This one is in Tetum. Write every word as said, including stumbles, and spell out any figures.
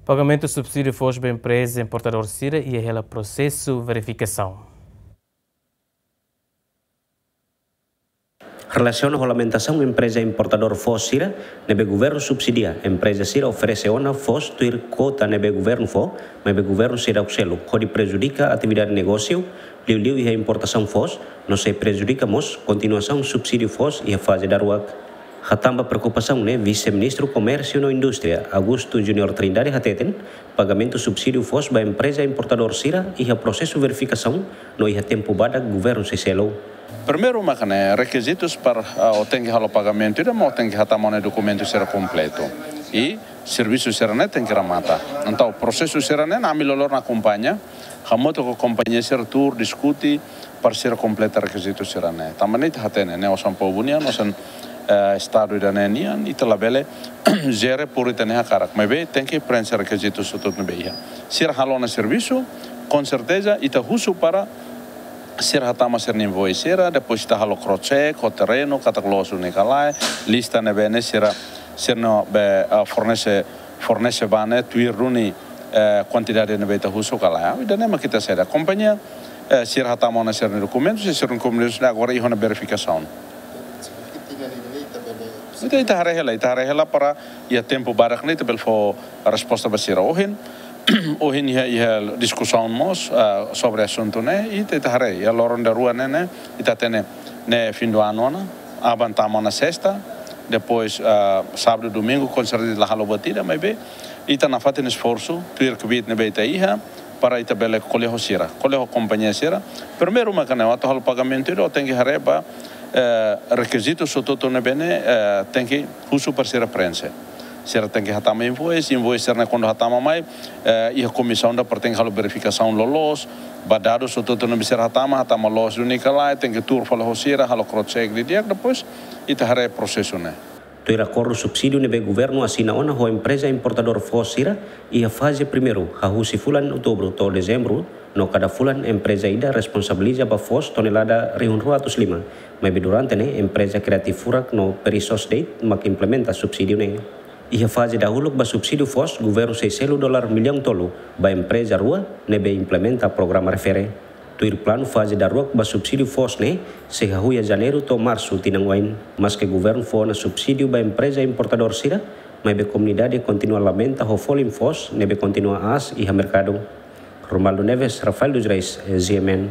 Pagamentu subsídiu foos ba empreza importadór sira iha hela prosesu verifikasaun. Relasiona ho lamentasaun empreza importadór foos sira ne'ebé governu subsidia, empreza sira oferese ona foos tuir kuota ne'ebé governu fó, maibé governu seidauk selu, hodi prejudika atividade negósiu, liuliu iha importasaun foos, no sei prejudika mós kontinuasaun subsídiu foos iha faze daruak. Hatán ba preokupasaun ne'e, Vise-Ministru Komérsiu no Indústria, Augusto Junior Trindade hateten, pagamentu subsídiu foos ba empreza importadór sira iha prosesu verifikasaun no iha tempu badak governu sei selu. Primeiru maka ne'e rekizitus para, ah, o tenke halo pagamentu ida, mak o tenke hatama ona dokumentu sira kompletu. I servisu sira-ne'e tenke remata. Entaun prosesu sira-ne'e ami loloos akompaña, hamutuk ho kompañia sira tuur diskute para sira kompleta rekizitu sira-ne'e. Tanba ne'e ita hatene, ne'e osan povu nian, osan, eh, Estadu ida-ne'e nian, ita labele jere por ita-nia hakarak. Maibé tenke preenxe rekizitu hotu-hotu ne'ebé iha. Sira halo ona servisu, konserteza ita husu para sira hatama sira-nia invoice sira, depois ita halo cross check ho terrenu, katak loos duni ka lae, lista ne'ebé ne'e sira, sira ne'ebé, ah, fornese, fornese ba ne'e tuir duni, eh, kuantidade ne'ebé ita husu ka lae. Ida-ne'e mak ita sei halo. Kompañia, eh, sira hatama ona sira-nia dokumentu, sira-nia dokumentu ne'e agora iha ona verifikasaun. Ita, ita haree hela, ita haree hela para iha tempu badak ne'e ita bele fó resposta ba sira. Ohin, ohin iha, iha diskusaun mós, ah, sobre asuntu ne'e, ita, ita haree, iha loron daruak ne'e, ne'e, ita hatene ne'e fim do ano ona, aban tama ona sesta, depois, ah, sábadu, domingu, konserteza la halo buat ida, maibé ita nafatin esforsu, tuir kbiit ne'ebé ita iha, para ita bele ko'alia ho sira, ko'alia ho kompañia sira. Primeiru maka ne'e, atu halo pagamentu ida, o tenke haree ba, eh, rekizitu hotu-hotu ne'ebé ne'e, eh, tenke husu para sira preenxe. Sira tenke hatama invoice, invoice sira-ne'e kuandu hatama mai, eh, iha komisaun ida para tenke halo verifikasaun loloos, ba dadus hotu-hotu ne'ebé sira hatama, hatama loos duni ka lae, tenke tuur fali ho sira, halo cross check didi'ak, depois ita haree prosesu ne'e. Tuir akordu subsídiu ne'ebé governu asina ona ho empreza importadór foos sira, iha faze primeiru, hahú husi fulan Outubru to'o Dezembru, no kada fulan empreza ida responsabiliza ba foos tonelada rihun rua atus lima, maibé durante ne'e empreza Creative Furak no Perissos Date mak implementa subsídiu ne'e. Iha faze dahuluk ba subsídiu foos, governu sei selu dolar millaun tolu ba empreza rua ne'ebé implementa programa refere. Tuir planu, faze daruak ba subsídiu foos ne'e sei hahú iha Janeiru to'o Marsu tinan oin. Maske governu fó ona subsídiu ba empreza importadór sira, maibé komunidade kontinua lamenta ho folin foos ne'ebé kontinua aas iha merkadu. Romualdo Neves, Rafael dos Reis, G M N.